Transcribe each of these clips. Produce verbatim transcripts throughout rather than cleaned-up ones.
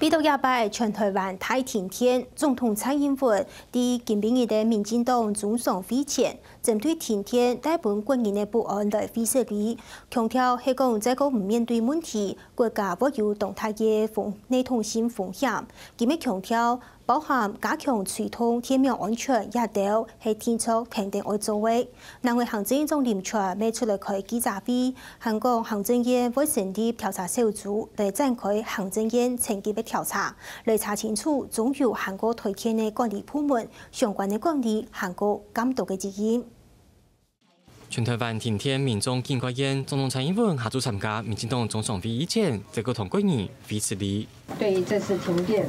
為著這擺全台灣大停電，總統蔡英文在今晡日个民進黨中常會前，針對停電帶分國人个不安來會失禮，強調係講再過毋面對問題，國家會有當大个風系統性風險。佢乜強調，包含加強追蹤電網安全這兜係定著天天愛做个。另外行政院長林全乜出來開記者會， 還講行政院會成立調查小組來展開行政院層級个調查，來查清楚中油還過台電个管理部門相關个管理還過監督个責任。全台灣停電民眾警戒言，總統蔡英文下晝參加民進黨中常會以前，再過同國人會失禮。 對於這次停電，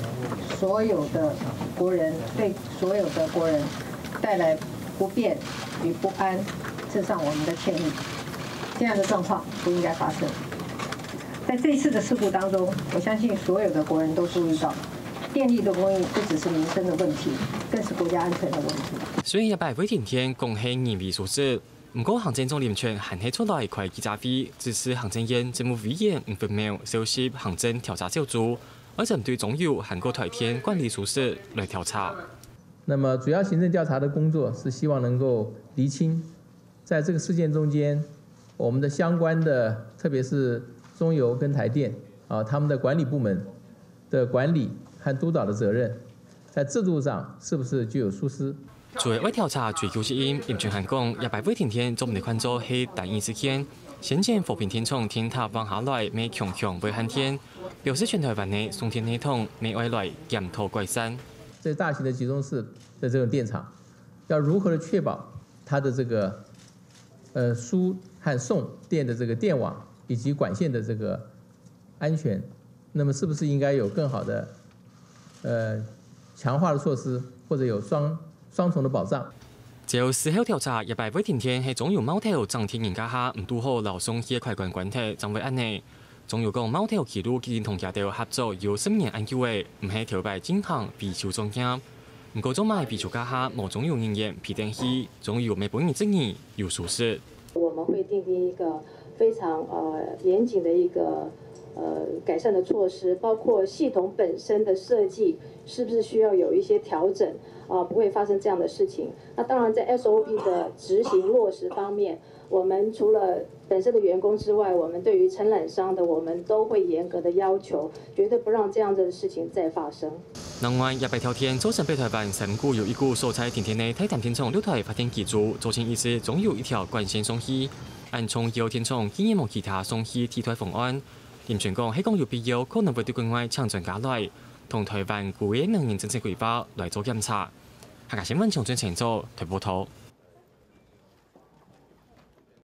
所有的國人，對所有的國人帶來不便與不安，致上我們的歉意。這樣的狀況不應該發生。在這一次的事故當中，我相信所有的國人都注意到，電力的供應不只是民生的問題，更是國家安全的問題。雖然這擺會停電講係人為疏失，毋過行政長林全還係出來開記者會，指示行政院政務委員吳粉苗召集行政調查小組，愛針對中油還過台電管理疏失來調查。那麼主要行政調查的工作是希望能夠釐清，在這個事件中間，我們的相關的，特別是中油跟台電啊，他們的管理部門的管理和督導的責任，在制度上是不是具有疏失？ 除了愛調查追究責任，林全還講，這擺會停電做毋得看做係單一事件。先前和平電廠電塔橫下來，乜強強會限電，表示全台灣个送電系統乜愛來檢討改善。這大型的集中式的這種電廠，要如何的確保它的這個呃輸和送電的這個電網以及管線的這個安全？那麼是不是應該有更好的呃強化的措施，或者有雙雙重的保障？ 照事後調查，這擺會停電係中油苗頭整電人家下毋堵好摎送氣个開關關忒，正會恁呢。中油講苗頭記錄既經同佢兜合作有十年恁久了，毋係頭擺進行維修作業。毋過做麼个維修家下無中油人員陪等去，中油乜分人質疑有疏失。我們會訂定一個非常呃嚴謹的一個呃改善的措施，包括系統本身的設計是不是需要有一些調整啊、不會發生這樣的事情。那當然在 S O P 的執行落實方面，我們除了本身的員工之外，我們對於承攬商的，我們都會嚴格的要求，絕對不讓這樣子的事情再發生。 另外，這擺跳電造成北台灣三股有一股所在停電个大潭電廠六台發電機組，造成一支中油一條管線送氣。恁重要電廠竟然無其他送氣替代方案。林全講係講有必要，可能會對國外請專家來，同台灣舊个能源政策規劃來做檢查。客家新聞張俊成做台北報導。